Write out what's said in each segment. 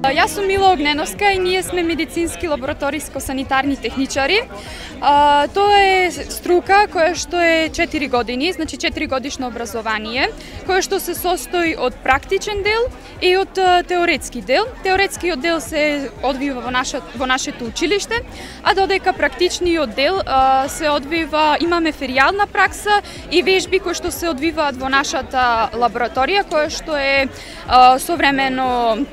Јас сум Мила Огненовска и ние сме медицински лабораториско-санитарни техничари. Тоа е струка која што е 4 години, значи 4 годишно образование, која што се состои од практичен дел и од теоретски дел. Теоретскиот дел се одвива во нашето училиште, а додека практичниот дел се одвива, имаме феријална пракса и вежби кои што се одвиваат во нашата лабораторија, која што е современо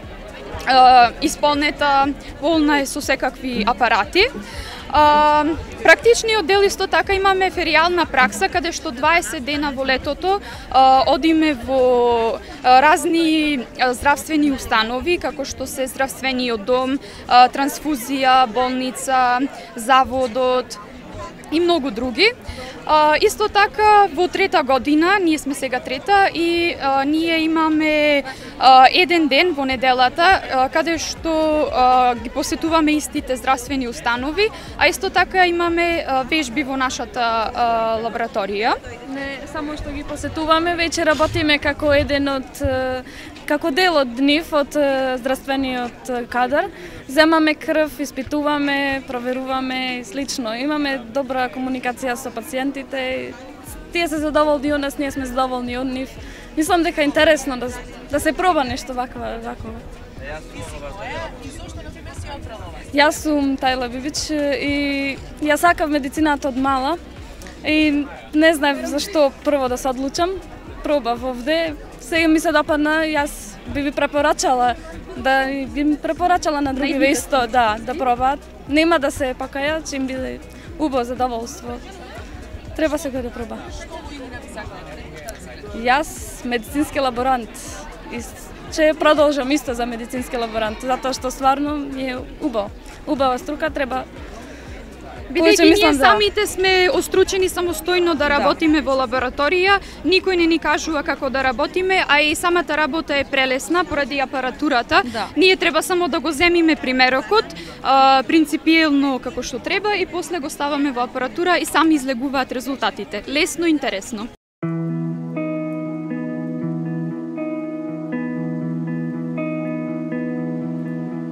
исполнета, полна е со секакви апарати. Практичниот дел исто така имаме феријална пракса, каде што 20 дена во летото одиме во разни здравствени установи, како што се здравствениот дом, трансфузија, болница, заводот и многу други. Исто така во трета година, ние сме сега трета и ние имаме еден ден во неделата каде што ги посетуваме истите здравствени установи, а исто така имаме вежби во нашата лабораторија. Не само што ги посетуваме, веќе работиме како како дел од нив, од здравствениот кадар. Земаме крв, испитуваме, проверуваме и слично. Имаме добра комуникација со пациентите. Тие се задоволни од нас, ние сме задоволни од нив. Мислам дека е интересно да се проба нешто вакво. Јас сум Тајла Бибич и јас сакав медицината од мала и не знаев зашто прво да се одлучам. Пробав овде, сега ми се допадна, јас би препорачала на други исто да пробаат. Нема да се покајат, че им биде убаво задоволство. Треба сега да проба. Јас медицински лаборант и ќе продолжам исто за медицински лаборант, затоа што стварно е убаво. Убава струка, треба. Бидејќи ние самите сме остручени самостојно да работиме во лабораторија, никој не ни кажува како да работиме, а и самата работа е прелесна поради апаратурата. Ние треба само да го земиме примерокот, принципиелно како што треба и после го ставаме во апаратура и сами излегуваат резултатите. Лесно и интересно.